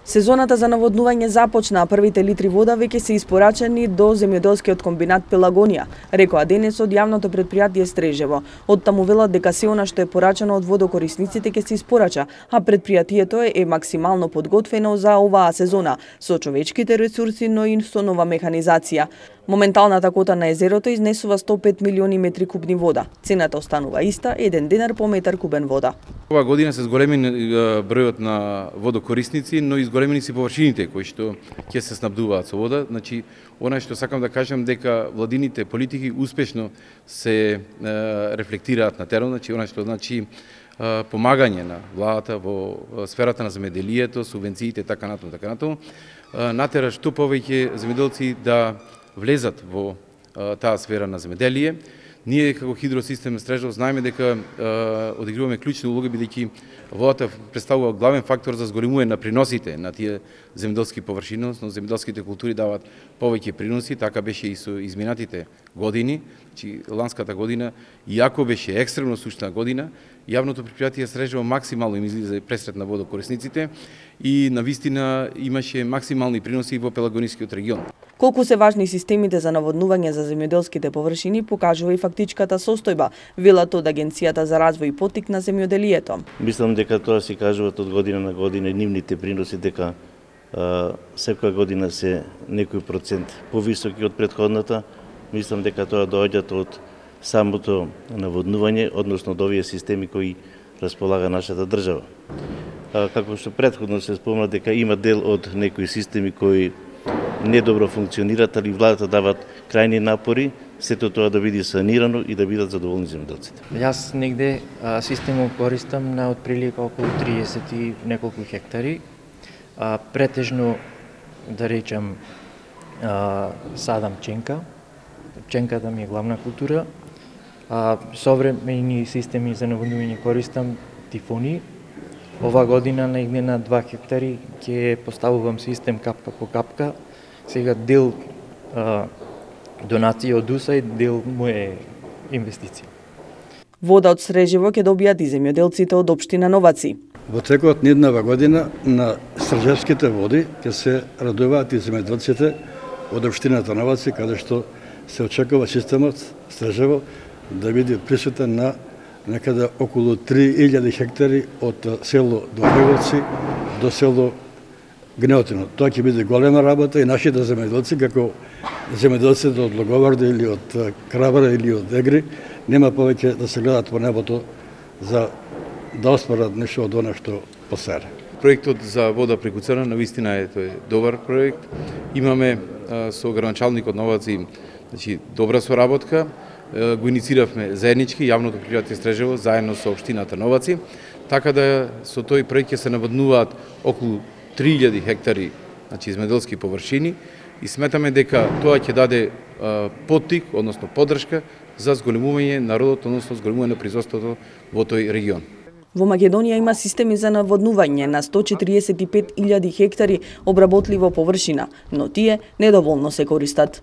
Сезоната за наводнување започна, а првите литри вода веќе се испорачени до земјоделскиот комбинат Пелагонија, рекоа денес од јавното претпријатие Стрежево. Оттаму велат дека се она што е порачано од водокорисниците ќе се испорача, а претпријатието е максимално подготвено за оваа сезона, со човечките ресурси, но и со нова механизација. Моменталната кота на езерото изнесува 105 милиони метри кубни вода. Цената останува иста, 1 динар по метар кубен вода. Оваа година се зголемени бројот на водокорисници, но и зголемени си површините кои што ќе се снабдуваат со вода. Значи, она што сакам да кажам дека владините политики успешно се рефлектираат на терен, значи она што значи помагање на владата во сферата на земјоделието, субвенциите така натаму, натера што повеќе земјоделци да влезат во таа сфера на земјоделие. Ние како хидросистем Стрежево знаеме дека одигруваме клучна улога, бидејќи водата представува главен фактор за зголемување на приносите на тие земјоделски површини, но земјоделските култури даваат повеќе приноси, така беше и со изминатите години. Значи, ланската година, иако беше екстремно сушна година, јавното претпријатие Стрежево максимално им излезе пресред на водокорисниците и навистина имаше максимални приноси во Пелагонискиот регион. Колку се важни системите за наводнување за земјоделските површини покажува и фактичката состојба, велат од Агенцијата за развој и поттик на земјоделието. Мислам дека тоа се кажуваат од година на година нивните приноси, дека секоја година се некој процент повисоки од претходната. Мислам дека тоа доаѓаат од самото наводнување, односно од овие системи кои располага нашата држава. Како што претходно се спомна дека има дел од некои системи кои недобро функционираат, али владата дават крајни напори сето тоа да биде санирано и да бидат задоволни земјоделците. Јас негде системот користам на отприлика околу 30 и неколку хектари. Претежно, да речам, садам пченка. Пченката ми е главна култура. Современи системи за наводнување користам тифони. Ова година негде на 2 хектари ќе поставувам систем капка по капка. Сега дел донација од УСАИД, дел му е инвестиција. Вода од Стрежево ќе добијат и земјоделците од општина Новаци. Во текот на еднава година на стрежевските води ќе се радуваат и земјоделците од општината Новаци, каде што се очекува системот Стрежево да биде присутен на некаде околу 3000 хектари од село Добреговци до село Гнеотино. Тоа ќе биде голема работа и нашите земјоделци, како земјоделците од Логоварда или од Крабара или од Егри, нема повеќе да се гледат по небото за да осварат нешто од она што посере. Проектот за вода преку Црна навистина е тој добар проект. Имаме со градоначалникот Новаци, значи добра соработка. Го иницииравме заеднички јавното претпријатие Стрежево заедно со општината Новаци, така да со тој проект ќе се наводнуваат околу 3000 хектари, значи земјоделски површини, и сметаме дека тоа ќе даде поттик, односно поддршка за зголемување народот, односно зголемување на производството во тој регион. Во Македонија има системи за наводнување на 145.000 хектари обработливо површина, но тие недоволно се користат.